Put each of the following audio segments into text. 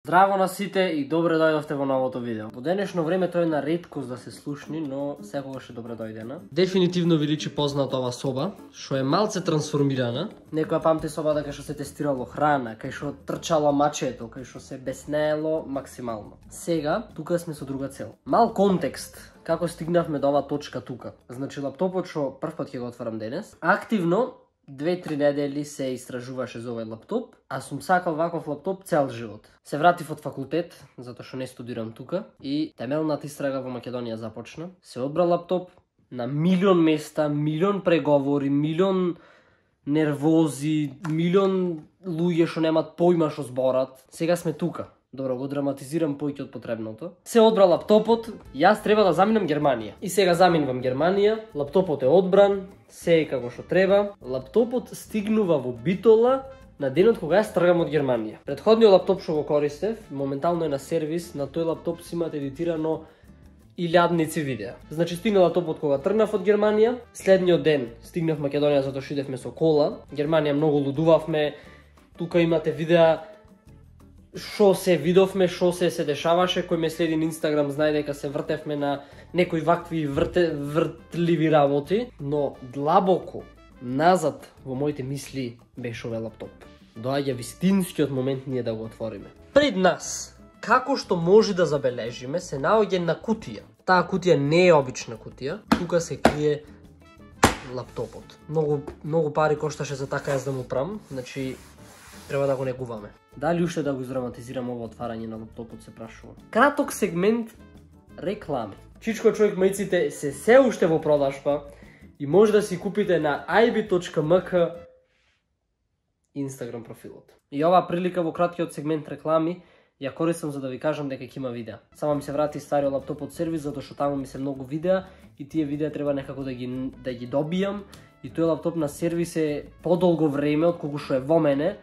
Здраво на сите и добре дојдовте во новото видео. Во денешно време тоа е на реткост да се слушни, но секогаш е добре дојдена. Дефинитивно ви личи позната ова соба, што е малце трансформирана. Некоја памти собата кај што се тестирало храна, кај што трчало мачето, кај што се беснеело максимално. Сега, тука сме со друга цел. Мал контекст, како стигнавме до оваа точка тука. Значи, лаптопот што првпат ќе го отварам денес, активно 2-3 недели се истражуваше за овој лаптоп, а сум сакал ваков лаптоп цел живот. Се вратив од факултет, затоа што не студирам тука, и темелната истрага во Македонија започна. Се одбра лаптоп на милион места, милион преговори, милион нервози, милион луѓе што немат појма што зборат. Сега сме тука. Добро, го драматизирам поиќе од потребното. Се одбра лаптопот, јас треба да заминам Германија. И сега заминувам Германија, лаптопот е одбран, се е како што треба. Лаптопот стигнува во Битола на денот кога јас тргам од Германија. Претходниот лаптоп што го користев, моментално е на сервис, на тој лаптоп си имат едитирано илјадници видеа. Значи стигна лаптопот кога тргнав од Германија, следниот ден стигнав Македонија затоа што идевме со кола. Германија многу лудувавме. Тука имате видеа шо се видовме, шо се дешаваше, кој ме следи на Инстаграм знае дека се вртевме на некои вакви вртливи работи, но длабоко назад во моите мисли беше овој лаптоп. Доаѓа вистинскиот момент ние да го отвориме. Пред нас, како што може да забележиме, се наоѓа на кутија. Таа кутија не е обична кутија, тука се крие лаптопот. Многу пари кошташе за така јас да му прам, значи треба да го негуваме. Дали уште да го издраматизирам ово отварање на лаптопот, се прашувам. Краток сегмент реклами. Чичко човек мајците се уште во продажба и може да си купите на ib.mk Инстаграм профилот. И оваа прилика во краткиот сегмент реклами ја користам за да ви кажам дека ќе има видеа. Само ми се врати стариот лаптоп од сервис затоа што таму ми се многу видеа и тие видеа треба некако да ги добијам и тој лаптоп на сервис е подолго време отколку што е во мене.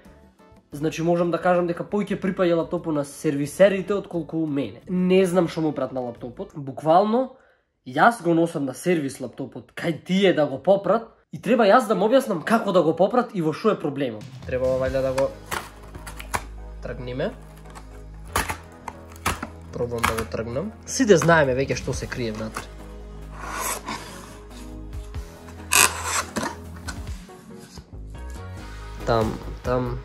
Значи можам да кажам дека поиќе припаѓа лаптопот на сервисерите отколку мене. Не знам што му прат на лаптопот. Буквално јас го носам на сервис лаптопот кај тие да го попрат и треба јас да му објаснам како да го попрат и во што е проблемот. Треба вајде да го тргнеме. Пробам да го тргнам. Сите знаеме веќе што се крие внатре. Там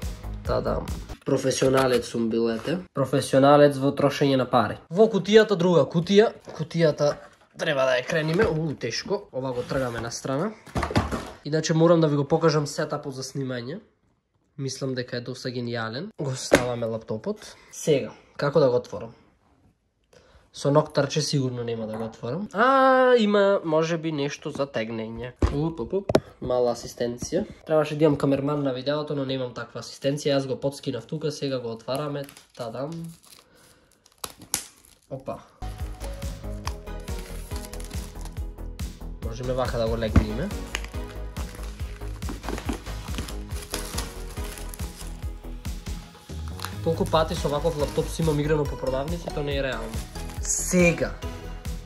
Тадам. Професионалец сум бил, ете. Професионалец во трошење на пари. Во кутијата друга кутија. Кутијата треба да ја крениме. Тешко. Ова го тргаме на страна. Иначе морам да ви го покажам сетапот за снимање. Мислам дека е доста гениален. Го ставаме лаптопот. Сега, како да го отворам? Со ноктарче сигурно нема да го отворам. Има можеби нешто за тегнење. Мала асистенција. Требаше да имам камерман на видеото, но немам таква асистенција. Јас го подскинав тука, сега го отвараме. Тадам. Опа. Можеме вака да го легнеме. Толку пати со ваков лаптоп си имам играно по продавници, тоа не е реално. Сега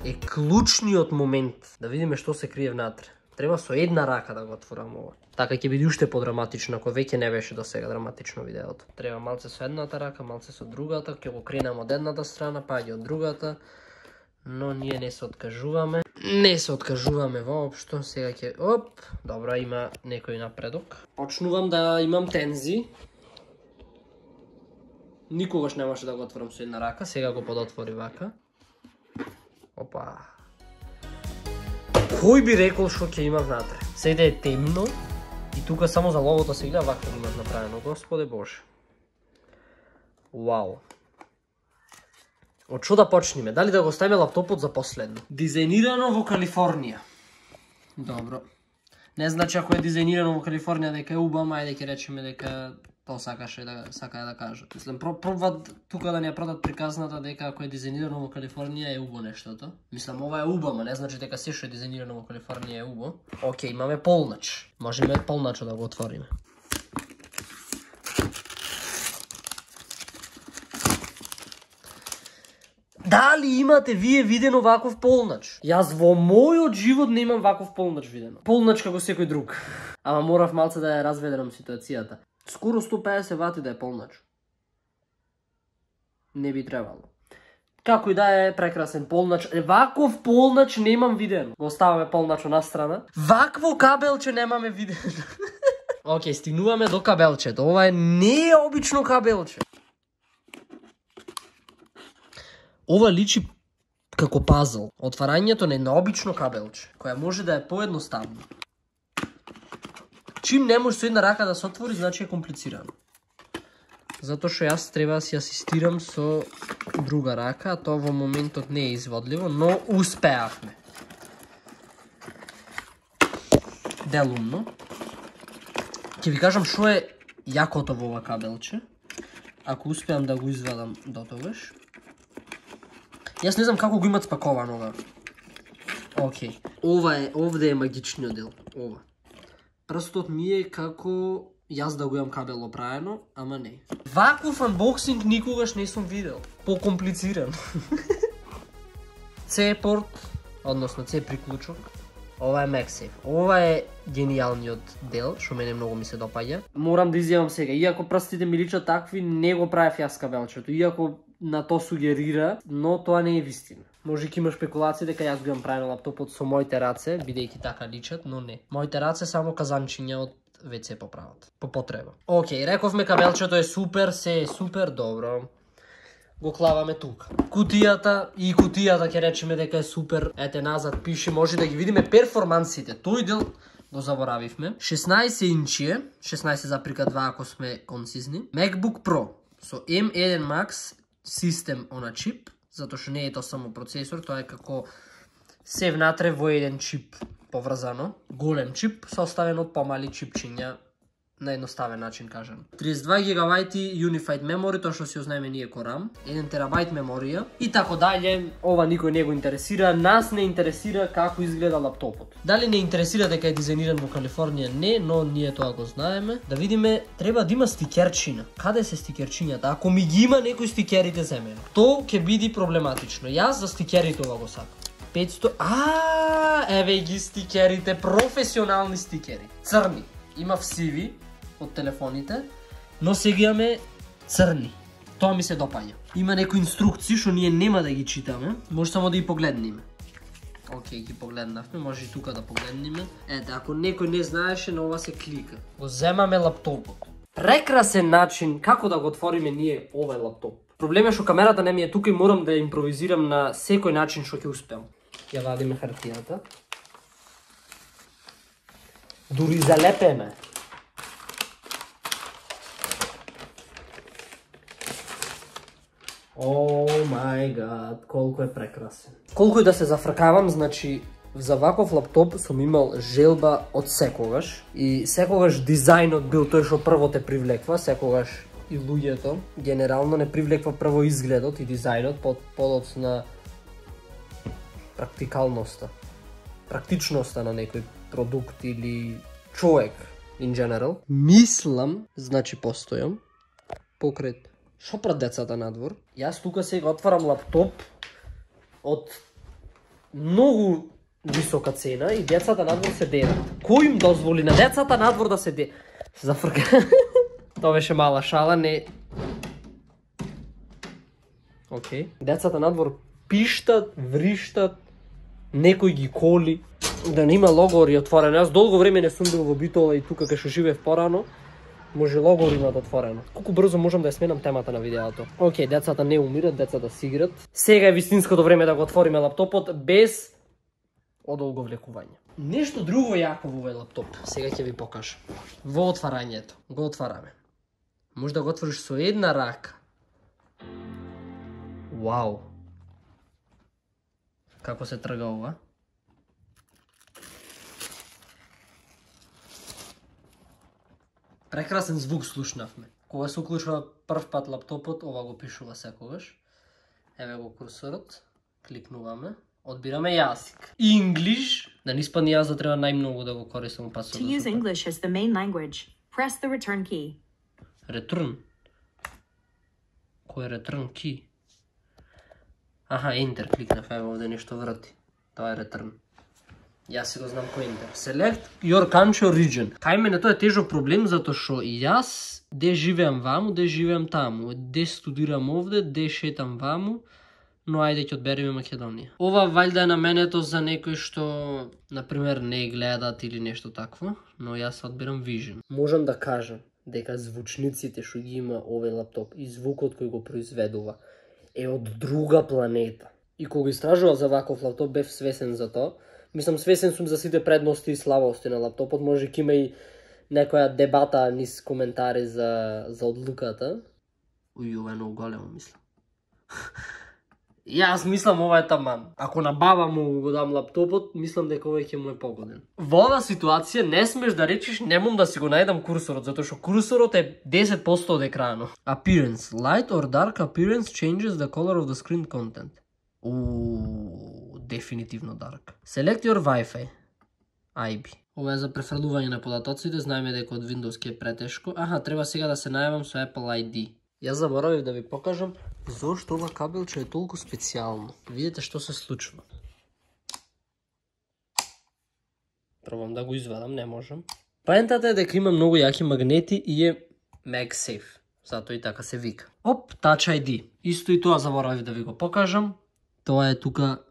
е клучниот момент да видиме што се крие внатре. Треба со една рака да го отворам ова. Така ќе биде уште подраматично, ако веќе не беше до сега драматично видеото. Треба малце со едната рака, малце со другата, ќе го кренам од едната страна, паѓа од другата. Но ние не се откажуваме. Не се откажуваме воопшто. Сега ќе... Добро, има некој напредок. Почнувам да имам тензи. Никогаш немаше да го отворам со една рака, сега го подотвори вака. Опа. Кој би рекол што ќе има внатре? Сега е темно и тука само за логото се гледа вака го имат направено, Господе Боже. Вау. Од што да почнеме? Дали да го ставиме лаптопот за последно? Дизајнирано во Калифорнија. Добро. Не значи ако е дизајнирано во Калифорнија дека е убаво, ајде ќе речеме дека тоа сака да кажат. Мислам, пробват тука да ни ја продат приказната дека ако е дизајнирано во Калифорнија е убо нештото. Мислам, ова е убаво, не значи дека се што е дизајнирано во Калифорнија е убо. Океј, имаме полнач. Можеме полначо да го отвориме. Дали имате вие видено ваков полнач? Јас во мојот живот не имам ваков полнач видено. Полнач како секој друг. Ама морав малце да ја разведерам ситуацијата. Скоро 150 вати да е полнач. не би требало. Како и да е прекрасен полнач. Ваков полнач немам виден. Го оставаме полначо на страна. Вакво кабелче немаме виден. Океј, стигнуваме до кабелчето. Ова е необично кабелче. Ова личи како пазл. Отварањето на необично кабелче, која може да е поедноставно. Чим не може со една рака да се отвори, значи е комплицирано. Затоа што јас треба да си асистирам со друга рака, а тоа во моментот не е изводливо, но успеавме. Делумно. Ќе ви кажам што е јакото во ова кабелче. Ако успеам да го извадам до тогаш. Јас не знам како го имат спаковано ова. Океј. Овде е магичниот дел. Ова. Прстот ми е како јас да го имам кабел оправено, ама не. Ваков анбоксинг никогаш не сум видел. Покомплициран. C-порт, односно C приклучок. Ова е MagSafe. Ова е гениалниот дел, што мене многу ми се допаѓа. Морам да изјавам сега, иако прстите ми личат такви, не го правев јас кабелчето. Иако на то сугерира, но тоа не е вистина. Може ќе има спекулации дека јас го имам правено лаптопот со моите раце, бидејќи така личат, но не. Моите раце само казанчиња од WC поправат. По потреба. Океј, рековме кабелчето е супер, се е супер добро. Го клаваме тука. Кутијата ќе речеме дека е супер. Ете назад пише, може да ги видиме перформансите. Тој дел го заборавивме. 16 инчи е, 16,2 ако сме концизни. MacBook Pro со M1 Max System on a chip, затоа што не е тоа само процесор, тоа е како се внатре во еден чип поврзано. Голем чип составен од помали чипчиња, на едноставен начин кажам. 32 GB Unified Memory, тоа што си ознаеме ние ко RAM, 1 TB меморија и тако дале. Ова никој не го интересира, нас не интересира како изгледа лаптопот. Дали не интересира дека е дизајниран во Калифорнија? Не, но ние тоа го знаеме. Да видиме, треба да има стикерчина. Каде се стикерчињата? Ако ми ги има некој стикерите за мене, тоа ќе биде проблематично. Јас за стикерите ова го сакам. 500. Еве ги стикерите, професионални стикери. Црни. Има сиви од телефоните, но сега имаме црни. Тоа ми се допаѓа. Има некои инструкции што ние нема да ги читаме, може само да ги погледнеме. Океј, ги погледнавме, може и тука да погледнеме. Ете, ако некој не знаеше, на ова се клика. Го земаме лаптопот. Прекрасен начин како да го отвориме ние овој лаптоп. Проблемот е што камерата не ми е тука и морам да импровизирам на секој начин што ќе успеам. Ја вадиме хартијата. Дури залепеме. О мај гад, колку е прекрасен. Колку и да се зафркавам, значи за ваков лаптоп сум имал желба од секогаш и секогаш дизајнот бил тој што прво те привлеква, секогаш и луѓето генерално не привлеква прво изгледот и дизајнот, подоцна практикалноста, практичноста на некој продукт или човек in general. Мислам, значи постојам покрај што пред децата надвор. Јас тука сега отварам лаптоп од многу висока цена и децата надвор се дедат. Кој им дозволи на децата надвор да се де? Се зафрка. Тоа беше мала шала, не. Океј. Децата надвор пиштат, вриштат, некој ги коли. Да нема логори отворено. Јас долго време не сум бил во Битола и тука кај што живеев порано. Може логор имат отворено. Колку брзо можам да ја сменам темата на видеото. Океј, децата не умират, децата си играт. Сега е вистинското време да го отвориме лаптопот без одолго влекување. Нешто друго јако во овој лаптоп. Сега ќе ви покажам. Во отварањето. Го отвараме. Може да го отвориш со една рака. Вау. Како се трга ова? Прекрасен звук слушнавме. Кога се уклучува прв пат лаптопот, ова го пишува секогаш. Еве го курсорот. Кликнуваме. Одбираме јазик. English. Да не испадне јас да треба најмногу да го користам пасот. To use English as the main language, press the return key. Return. Кој е return key? Аха, enter кликнав, еве овде нешто врати. Тоа е return. Јас си го знам кој enter. Select your country or region. Кај мене тоа е тежок проблем затоа што јас де живеам ваму, де живеам таму, де студирам овде, де шетам ваму, но ајде ќе одбереме Македонија. Ова валјда е наменето за некои што, например, не гледат или нешто такво, но јас одбирам Vision. Можам да кажам дека звучниците што ги има овој лаптоп и звукот кој го произведува е од друга планета. И кога истражував за ваков лаптоп бев свесен за тоа. Мислам, свесен сум за сите предности и слабости на лаптопот. Може ќе има и некоја дебата низ коментари за одлуката. Уј, ова е многу големо, мислам. Јас мислам ова е таман. Ако на баба му го дам лаптопот, мислам дека овој ќе му е погоден. Во оваа ситуација не смеш да речеш немам да си го најдам курсорот, затоа што курсорот е 10% од екранот. Appearance. Light or dark appearance changes the color of the screen content. Дефинитивно dark. Select your Wi-Fi. IB. Ова е за префрлување на податоците, знаеме дека од Windows ќе е претешко. Аха, треба сега да се најавам со Apple ID. Јас заборавив да ви покажам зошто ова кабелче е толку специјално. Видете што се случува. Пробам да го извадам, не можам. Поентата е дека има многу јаки магнети и е MagSafe. Затоа и така се вика. Оп, Touch ID. Исто и тоа заборавив да ви го покажам. Тоа е тука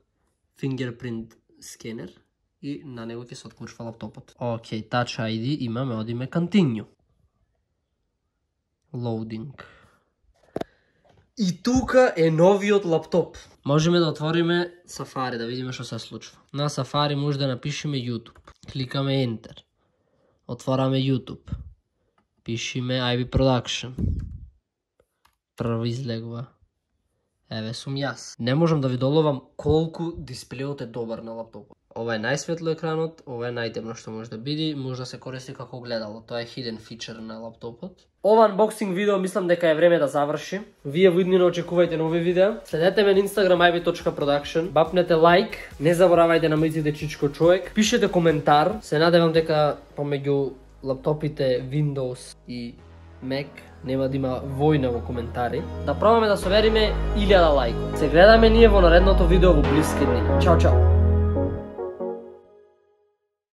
fingerprint скенер и на него ќе се отклучва лаптопот. Океј, Touch ID имаме, одиме Continue. Loading. И тука е новиот лаптоп. Можеме да отвориме Safari, да видиме што се случва. На Safari може да напишеме YouTube. Кликаме Enter. Отвораме YouTube. Пишеме IB Production. Прво излегува. Еве сум јас. Не можам да ви доловам колку дисплејот е добар на лаптопот. Ова е најсветло екранот, ова е најтемно што може да биде, може да се користи како гледало. Тоа е hidden feature на лаптопот. Ова unboxing видео мислам дека е време да заврши. Вие во иднина очекувајте нови видеа. Следете ме на Instagram ib.production. Бапнете лайк, не заборавајте на миците Чичко човек. Пишете коментар. Се надевам дека помеѓу лаптопите Windows и Mac нема да има војна во коментари. Да пробаме да собериме 1000 лајкови. Се гледаме ние во наредното видео во блиски дни. Чао, чао!